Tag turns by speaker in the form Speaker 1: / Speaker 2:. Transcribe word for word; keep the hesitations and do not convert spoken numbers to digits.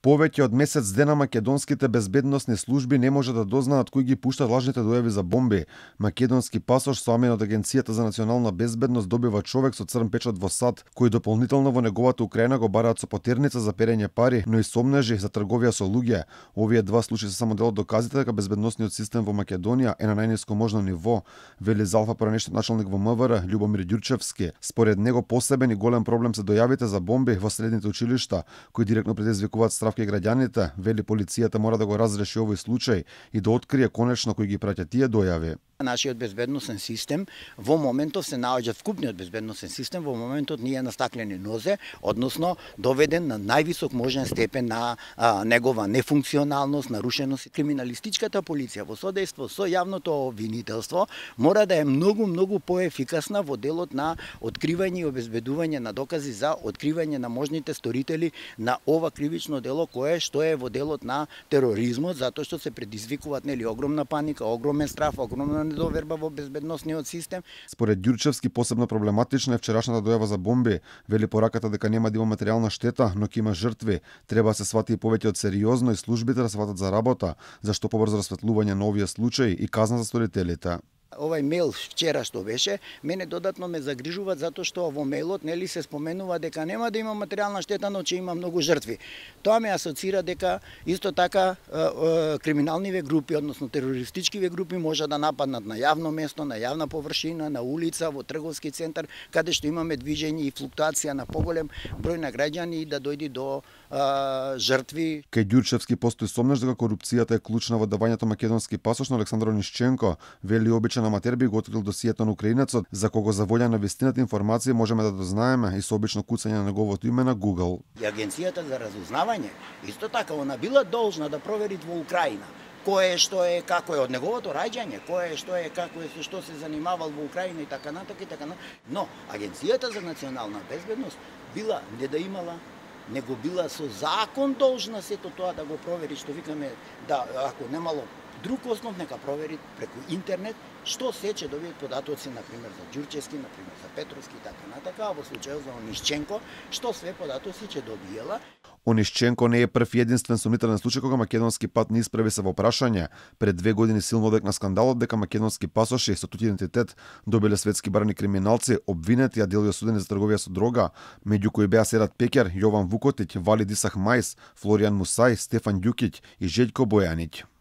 Speaker 1: Повеќе од месец дена македонските безбедносни служби не може да дознаат кои ги пуштат лажните дојави за бомби. Македонски пасош соамен од Агенцијата за национална безбедност добива човек со црн печат во САД, кој дополнително во неговата Украина го бараат со потерница за перење пари, но и сомнежи за трговија со луѓе. Овие два случаи се само дел од доказите дека безбедносниот систем во Македонија е на најниско можно ниво, вели за Алфа поранешниот началник во МВР Љубомир Ѓурчевски. Според него посебен и голем проблем се дојавите за бомби во средните училишта, кои директно предизвикуваат страв кај граѓаните. Вели полицијата мора да го разреши овој случај и да открие конечно кои ги праќа тие дојави.
Speaker 2: Нашиот безбедносен систем во моментот се наоѓа, вкупниот безбедносен систем во моментот ние на стаклени нозе, односно доведен на највисок можен степен на а, негова нефункционалност, нарушеност. Криминалистичката полиција во содејство со јавното обвинителство мора да е многу многу поефикасна во делот на откривање и обезбедување на докази за откривање на можните сторители на ова кривично дело кое што е во делот на тероризмот, затоа што се предизвикуваат нели огромна паника, огромен страф, огромна недоверба во безбедносниот систем.
Speaker 1: Според Ѓурчевски посебно проблематична е вчерашната дојава за бомби. Вели пораката дека нема да има материјална штета, но ќе има жртви. Треба да се свати и повеќе од сериозно и службите да се сватат за работа, зашто побрзо расветлување на овие случаи и казна за сторителите.
Speaker 2: Овај мејл вчера што беше, мене додатно ме загрижува затоа што во мејлот нели се споменува дека нема да има материјална штета, но че има многу жртви. Тоа ме асоцира дека исто така е, е, криминалниве групи, односно терористичкиве групи може да нападнат на јавно место, на јавна површина, на улица, во трговски центар, каде што имаме движење и флуктуација на поголем број на граѓани и да дојде до е, жртви.
Speaker 1: Кај Ѓурчевски постои сомнеж дека корупцијата е клучна во давањето македонски пасош на Александар Онишченко. Вели обичен аматер би го открил досието на украинецот, за кого за волја на вистината информација можеме да дознаеме и со обично куцање на неговото име на Google.
Speaker 2: И Агенцијата за разузнавање исто така она била должна да провери во Украина кое што е, како е од неговото раѓање, кое што е, како е, што се занимавал во Украина и така натака и така натака. Но Агенцијата за национална безбедност била не да имала, него била со закон должна сето тоа да го провери, што викаме, да ако немало друг основ нека провери преку интернет што се ќе добијат податоци, например за Ѓурчевски, например за Петровски и така натака, а во случајот за Онишченко, што све податоци ќе добиела.
Speaker 1: Онишченко не е прв и единствен сомнителен случај кога македонски пат не исправи се во прашање. Пред две години силно одекна скандалот дека македонски пасоши со туѓ идентитет добиле светски барани криминалци, обвинети, а дел и осудени за трговија со дрога, меѓу кои беа Серат Пекер, Јован Вукотиќ, Вали Дисах Мајс, Флоријан Мусај, Стефан Ѓукиќ и Жељко Бојаниќ.